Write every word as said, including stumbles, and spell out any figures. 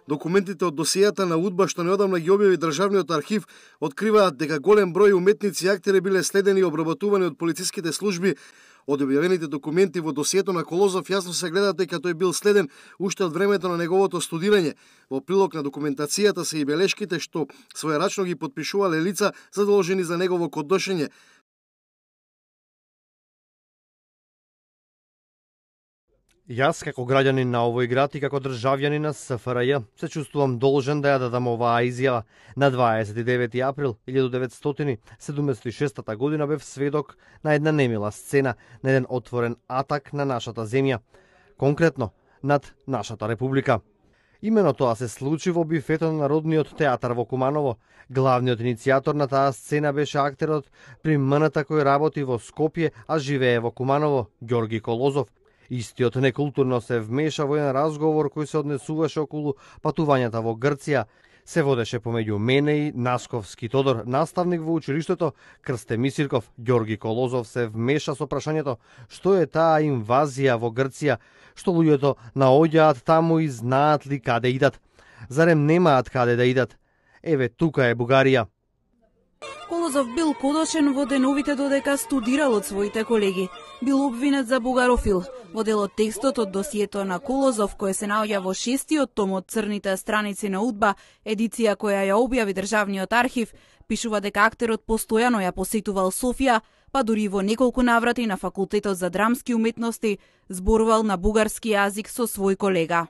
Документите од досијата на УДБА што неодамна ги објави Државниот архив откриваат дека голем број уметници и актери биле следени и обработувани од полициските служби. Од објавените документи во досието на Колозов јасно се гледа дека тој бил следен уште од времето на неговото студирање. Во прилог на документацијата се и белешките што својрачно ги потпишувале лица задолжени за негово кодношење. Јас, како граѓанин на овој град и како државјанин на СФРЈ, се чувствувам должен да ја дадам оваа изјава. На дваесет и девети април илјадум деветстотини седумдесет и шеста година бев сведок на една немила сцена, на еден отворен атак на нашата земја, конкретно над нашата република. Имено тоа се случи во бифето на Народниот театар во Куманово. Главниот иницијатор на таа сцена беше актерот при М Н Т кој работи во Скопје, а живее во Куманово, Ѓорги Колозов. Истиот некултурно се вмеша во еден разговор кој се однесуваше околу патувањата во Грција. Се водеше помеѓу мене и Насковски Тодор, наставник во училиштето, Крсте Мисирков. Ѓорги Колозов се вмеша со прашањето што е таа инвазија во Грција, што луѓето наоѓаат таму и знаат ли каде идат. Зарем немаат каде да идат? Еве, тука е Бугарија. Колозов бил кодошен во деновите додека студирал од своите колеги. Бил обвинет за бугарофил. Во дел од текстот од досието на Колозов, кој се наоѓа во шестиот том од црните страници на УДБА, едиција која ја објави Државниот архив, пишува дека актерот постојано ја посетувал Софија, па дури во неколку наврати на Факултетот за драмски уметности зборувал на бугарски јазик со свој колега.